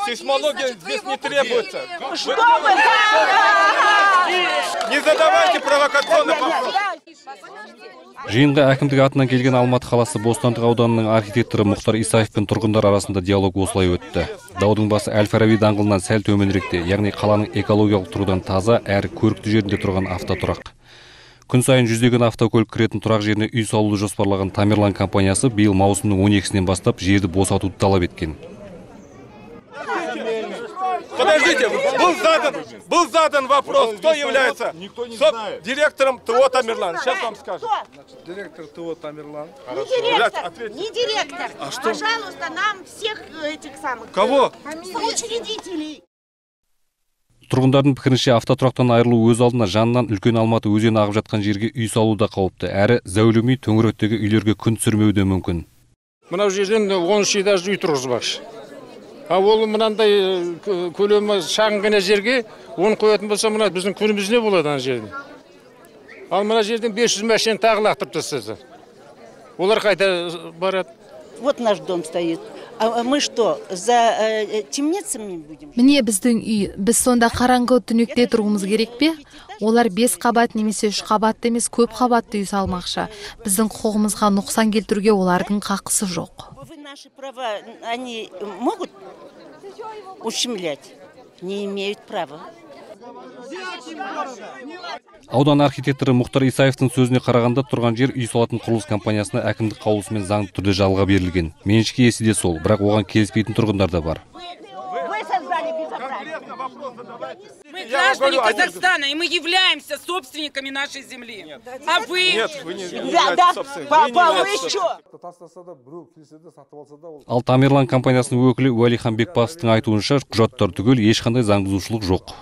Сейсмология здесь не требуется. Не задавайте провокационных вопросов. Жиынға әкімдік атынан келген Алматы қаласы Бостандық ауданының архитекторы Мұхтар Исаев пен тұрғындар арасында диалог осылай өтті. Даудың басы Әл-Фараби даңғылынан сәл төменіректе, яғни қаланың экологиялық тұрғыдан таза әрі көрікті жерінде тұрған автотұрақ. Күн сайын жүздеген автокөлік кіретін тұрақ жеріне үй салуды жоспарлаған Тамерлан компаниясы биыл маусымның 12-сінен бастап жерді босатуды талап еткен. Подождите, был задан вопрос, кто является директором ТО Тамерлан. Сейчас вам скажу. Директор ТО Тамерлан. Не директор. А что? Пожалуйста, нам всех этих самых... Кого? Соучредителей. Тұрғындардың пікірінше автотұрақтан айырылу өз алдына жанынан үлкен Алматы өзені ағып жатқан жерге үй салу да қауіпті, әрі зәулім үй төңіректегі үйлерге күн түсірмеуі де мүмкін. Мынау жерден 13 этажды үй тұрғызбақшы. А ол мынандай көлемі шағын ғана жерге оны қоятын болса, мына біздің күніміз не болады ана жерде? Ал мына жерден 500 машина тағы лақтырып тастаса. Олар қайда барады? Вот наш дом стоит. А мы что, за темницами будем? Міне біздің үй, біз сонда қараңғы түнекте тұрғымыз керек пе? Олар 5 қабат немесе 3 қабатты емес көп қабатты үй салмақшы. Біздің құқығымызға нұқсан келтіруге олардың қақысы жоқ. Наши права, они могут ущемлять? Не имеют права. Аудан архитекторы Мұхтар Исаевтың сөзіне қарағанда тұрған жер үй салатын құрылыс компаниясына әкімдік қаулысымен заңды түрде жалға берілген. Меншік иесі де сол, бірақ оған келіспейтін тұрғындар да бар. Мы граждане Казахстана, и мы являемся собственниками нашей земли. А вы? Нет, вы не являетесь собственником. Ал Тамерлан компаниясының өкілі Уәлихан Бекбасовтың айтуынша құжаттар түгел ешқандай заңбұзушылық жоқ.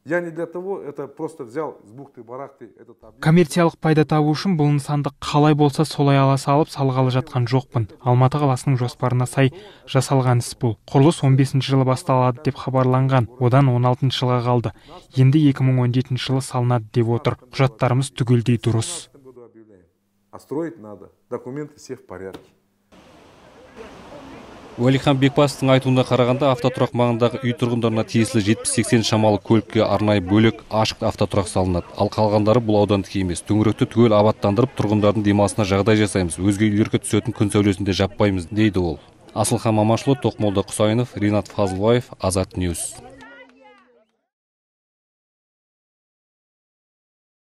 Я не для того, это просто взял с бухты-барахты этот объект. Коммерциялық пайда табу үшін бұл нысанды қалай болса солай ала салып салғалы жатқан жоқпын. Алматы қаласының жоспарына сай жасалған іс бұл. Құрылыс 15 жылы басталады деп хабарланған. Одан 16 жылға қалды. Енді 2017 жылы салынады деп отыр. Құжаттарымыз түгелдей дұрыс. А строить надо. Документы все в порядке. Уәлихан Бекбасовтың айтуына қарағанда автотұрақ маңындағы үй тұрғындарына тиесілі 70-80 шамалы көлікке арнайы бөлек ашық автотұрақ салынады. Ал қалғандары бұл аудандық емес. Төңіректі түгел абаттандырып, тұрғындардың демалысына жағдай жасаймыз. Өзге үйлерге түсетін күн сәулесінде жаппаймыз, дейді ол. Асылхан Мамашұлы, Тоқмолда Құсайынов, Ринат Фазылбаев, Азат Ньюс.